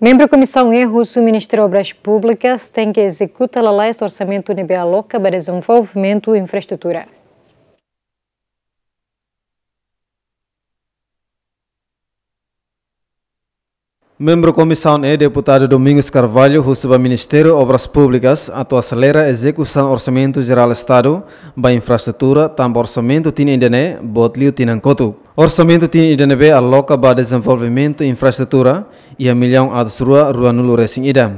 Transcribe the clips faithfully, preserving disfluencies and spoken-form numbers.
Membru Komisaun E husu Ministériu Obras Públikas tenke ezekuta lalais orsamentu ne'ebé aloka ba dezenvolvimentu infraestrutura. Membru Komisaun E, Deputadu Domingos Carvalho, husu ba Ministériu Obras Públikas atu aselera ezekusaun Orsamentu Jerál Estadu ba infraestrutura, tanba orsamentu tinan ida-ne'e boot liu tinan kotuk. Orsamentu tinan ida ne'ebé aloka ba dezenvolvimentu infraestrutura iha millaun atus rua ruanulu resin ida.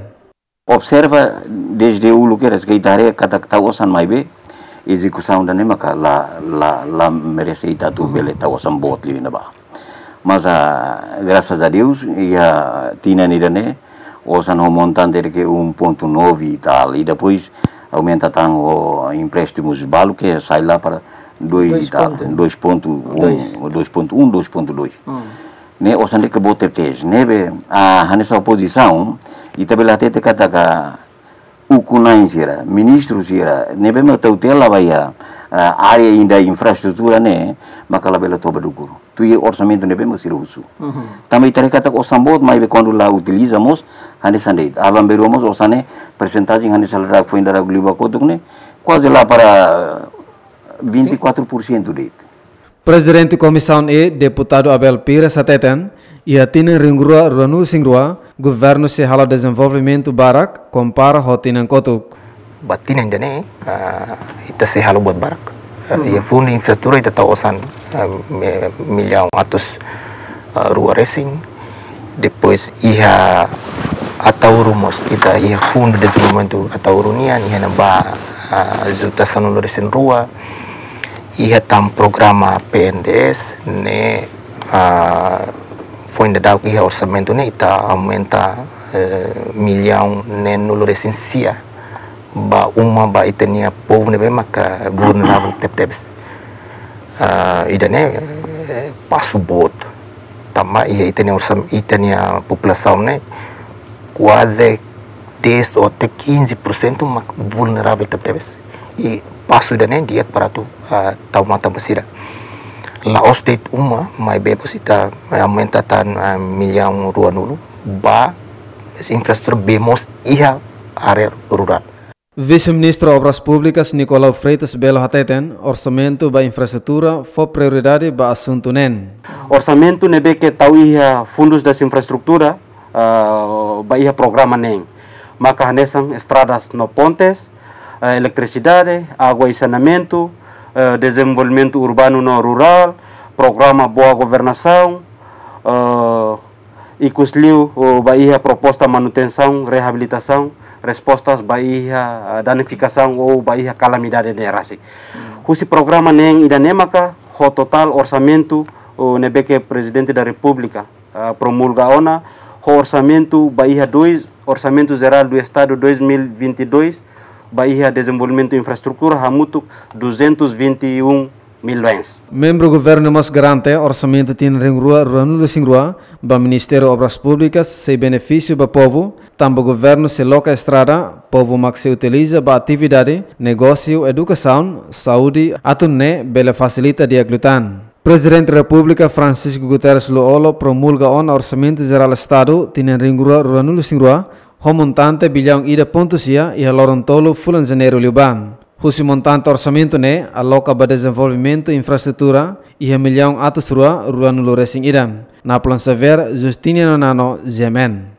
Observa dezde uluk kedas ke ita haree katak tau osan maibé ezekusaun ida-ne'e maka la, la, la merese ita atu bele tau osan boot liu ne'ebá. Mas, ah, graças a Deus, iha tinan ida-ne'e osan ho montante de ke um ponto nove e tal. E depois aumenta tan ho empréstimos balu ke sai lá para dois e tal, dois ponto um, dois ponto um, dois ponto dois. Ne'e osan de ke boot tebes. Ne'ebé, ah, hanesan opozisaun, ita bele hatete katak ukun-na'in sira, ministru sira, ne'ebé mak tutela ba iha, ah, área ida infraestrutura ne'e, maka labele toba dukur. Tuir orsamentu ne'ebé mak sira husu. Tanba ita haree katak osan boot maibé kuandu la utiliza mós, hanesan de'it. Aban-bainrua mós osan ne'e persentajen hanesan ita haree foin daudaun liu ba kotuk ne'e, kuaze lá para vinte e quatro por cento de'it. Prezidente Komisaun E, Deputadu Abel Pires hateten, iha tinan rihun rua ruanulu resin rua, governu sei halo dezenvolvimentu barak, kompara ho tinan kotuk. Ba tinan ida-ne'e, ah, ita sei halo buat barak. Ah, iha fundu infraestrutura ita tau osan, ah, mi-, millaun atus, ah, rua resin. Depois iha Ataúro mós, ita iha fundu dezenvolvimentu Ataúro nian, iha ne'ebá, ah, juta sanulu resin rua. Iha tan programa P N D S ne'e, ah, foin daudauk iha orsamentu ne'e ita aumenta, eh, millaun neenulu resin sia ba uma ba ita-nia povu ne'ebé maka vulneravel tebetebes. Ah, ida-ne'e, eh, pasu boot. Tanba iha ita-nia orsam-, ita-nia populasaun ne'e kuaze dez até quinze por cento mak vulneravel tebetebes. I pasu ida-ne'e di'ak para atu, ah, tau matan ba sira. La'ós de'it uma, maibé depois ita, eh, aumenta tan, ah, millaun ruanulu ba infraestrutura be mós iha área rurál. Vise-Ministru Obras Públikas Nicolau Freitas Belo hateten, orsamentu ba infraestrutura fó prioridade ba asuntu neen. Orsamentu ne'ebé ke tau iha Fundos das Infraestrutura, ah, ba iha programa neen. Maka hanesan estradas no pontes, eh, eletrisidade, água e saneamentu, eh, dezenvolvimentu urbanu no rurál, programa Boa Governação, eh, ikusliu, oh, ba iha proposta manutensaun, reabilitasaun, respostas ba iha, ah, danifikasaun ou ba iha kalamidade ne'e rasik. Husi programa neen ida-ne'e maka ho totál orsamentu, oh, ne'ebé ke Prezidente da Repúblika, ah, promulga ona, ho orsamentu ba iha dois, Orçamento Geral do Estado dois mil e vinte e dois, ba iha dezenvolvimentu infraestrutura hamutuk duzentos e vinte e um milhões. Membru governu mós garante orsamentu tinan rihun rua ruanulu resin rua ba Ministériu Obras Públikas sei benefísiu ba povu, tanba governu sei loka estrada, povu mak sei utiliza ba atividade, negósiu, edukasaun, saúde, atu nune'e bele fasilita di'ak liután. Prezidente Repúblika Francisco Guterres Lú-Olo promulga ona Orsamentu Jerál Estadu tinan rihun rua ruanulu resin rua, ho montante billaun ida pontu sia iha loron tolu fulan Janeiru liubá. Husi montante orsamentu ne'e aloka ba dezenvolvimentu infraestrutura iha millaun atus rua ruanulu resin ida. Napoleon Xavier, Justiniano Nano, G M N.